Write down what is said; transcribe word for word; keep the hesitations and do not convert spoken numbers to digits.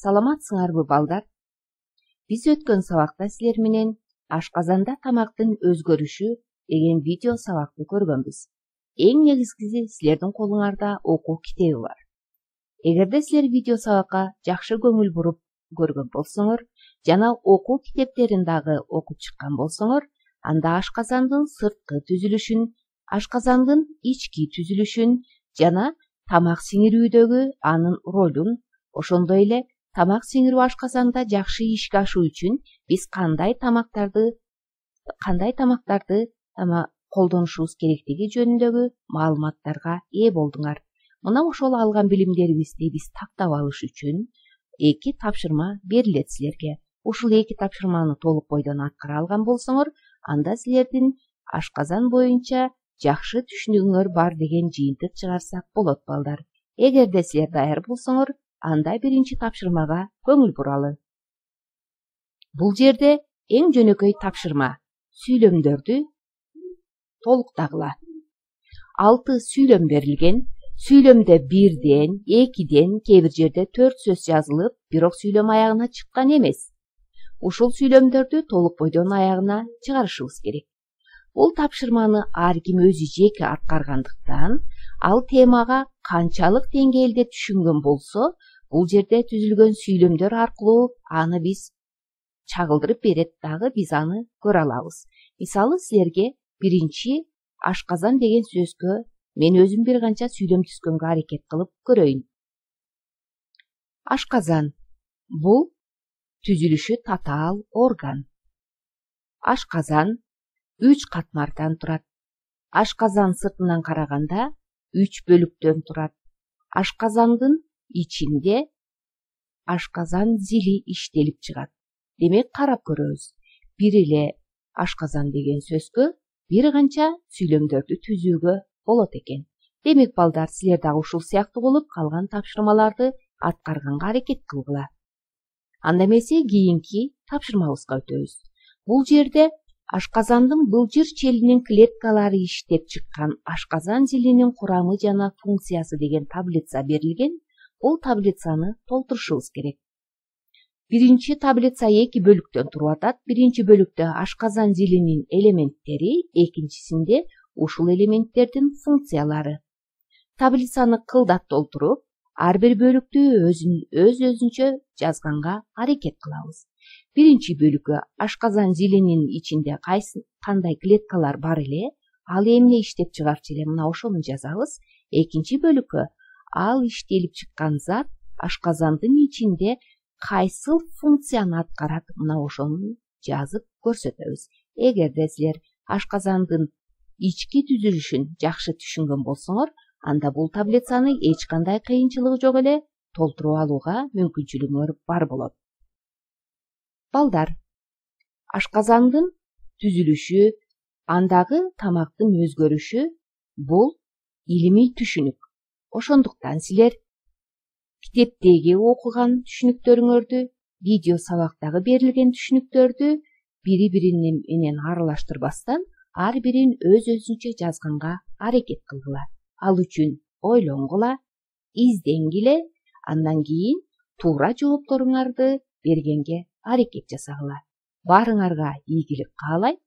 Саламатсыңарбы балдар? Биз өткөн сабакта силер менен ашказанда тамактын өзгөрүшү деген видео сабакты көргөнбүз. Эң негизгиси силердин колуңарда окуу китеби бар. Эгерде силер видео сабакка жакшы көңүл буруп көргөн болсоңор жана окуу китептерин дагы окуп чыккан болсоңор, анда ашказандын сырткы түзүлүшүн, ашказандын ички түзүлүшүн жана тамак сиңирүүдөгү анын ролун, ошондой эле тамак сиңирүү ашказанда жакшы ишке ашуу үчүн биз кандай тамактарды кандай тамактарды колдонушубуз керектиги жөнүндөгү маалыматтарга ээ болдуңар. Мына ошол алган билимдерибизди биз тактап алыш үчүн эки тапшырма берилет силерге. Ушул эки тапшырманы толук бойдон аткара алган болсоңор, анда силердин ашказан боюнча жакшы түшүнүгүңөр бар деген жыйынтык чыгарсак болот балдар. Эгерде силер даяр болсоңор, анда биринчи тапшырмага көңүл буралы. Бул жерде эң жөнөкөй тапшырма сүйлөмдөрдү толуктагыла. Алты сүйлөм берилген. Сүйлөмдө бирден, экиден, кээ бир жерде төрт сөз жазылып, бирок сүйлөм аягына чыккан эмес. Ушул сүйлөмдөрдү толук бойдон аягына чыгарышыбыз керек. Бул тапшырманы ар ким өзү жеке аткаргандыктан, ал темага канчалык деңгээлде түшүнгөн болсо, бул жерде түзүлгөн сүйлөмдөр аркылуу аны биз чагылдырып берет дагы биз аны көрө алабыз. Мисалы, силерге биринчи ашказан деген сөзгө мен өзүм бир канча сүйлөм түзгөнгө аракет кылып көрөйүн. Ашказан бул түзүлүшү татаал орган. Ашказан үч катмардан турат. Ашказан сыртынан караганда үч бөлүктөн турат. Ашказандын ичинде ашказан зили иштелип чыгат. Демек, карап көрөбүз. Бир эле ашказан деген сөзгө бир канча сүйлөмдөрдү түзүүгө болот экен. Демек, балдар, силер дагы ушул сыяктуу болуп калган тапшырмаларды аткарганга аракет кылгыла. Анда эмесе кийинки тапшырмабызга өтөбүз. Бул жерде ашказандын былжыр челинин клеткалары иштеп чыккан ашказан зилинин курамы жана функциясы деген таблица берилген. Бул таблицаны толтурушубуз керек. Биринчи таблица эки бөлүктөн туруп атат. Биринчи бөлүктө ашказан зилинин элементтери, экинчисинде ушул элементтердин функциялары. Таблицаны кылдат толтуруп, ар бир бөлүктү өз өзүнчө жазганга аракет кылабыз. Биринчи бөлүккө ашказан зилинин ичинде кайсы кандай клеткалар бар эле, ал эмне иштеп чыгарчу эле, мына ошону жазабыз. Экинчи бөлүккө ал иштелип чыккан зат ашказандын ичинде кайсыл функцияны аткарат, мына ошону жазып көрсөтөбүз. Эгерде силер ашказандын ички түзүлүшүн жакшы түшүнгөн болсоңор, анда бул таблицаны эч кандай кыйынчылыгы жок эле толтуруп алууга мүмкүнчүлүгүңөр бар болот. Балдар, ашказандын түзүлүшү, андагы тамактын өзгөрүшү бул илимий түшүнүк. Ошондуктан силер китептеги окуган түшүнүктөрүңөрдү, видео сабактагы берилген түшүнүктөрдү бири бири менен аралаштырбастан ар бирин өз өзүнчө жазганга аракет кылгыла. Ал үчүн ойлонгула, изденгиле, андан кийин туура жоопторуңарды бергенге аракет жасагыла. Баарыңарга ийгилик каалайм.